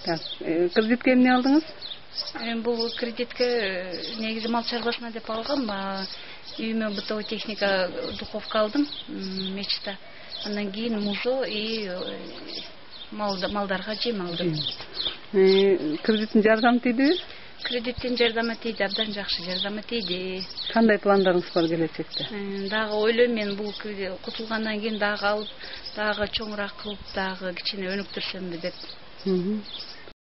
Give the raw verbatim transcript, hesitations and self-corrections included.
Так, кредитке эмне алдыңыз? Бул кредитке негизи мал чарбасына деп алгам. Үйүмө бытовой техника, духовка алдым мечта. Андан кийин музо и малдарга жем алдым. Кредиттин жардамы тийдиби? Кредиттин жардамы тийди, абдан жакшы жардамы тийди. Кандай пландарыңыз бар келечекте? Дагы ойлойм мен бул кутулгандан кийин дагы алып, дагы чоңураак кылып, дагы кичине өнүктүрсөмбү деп.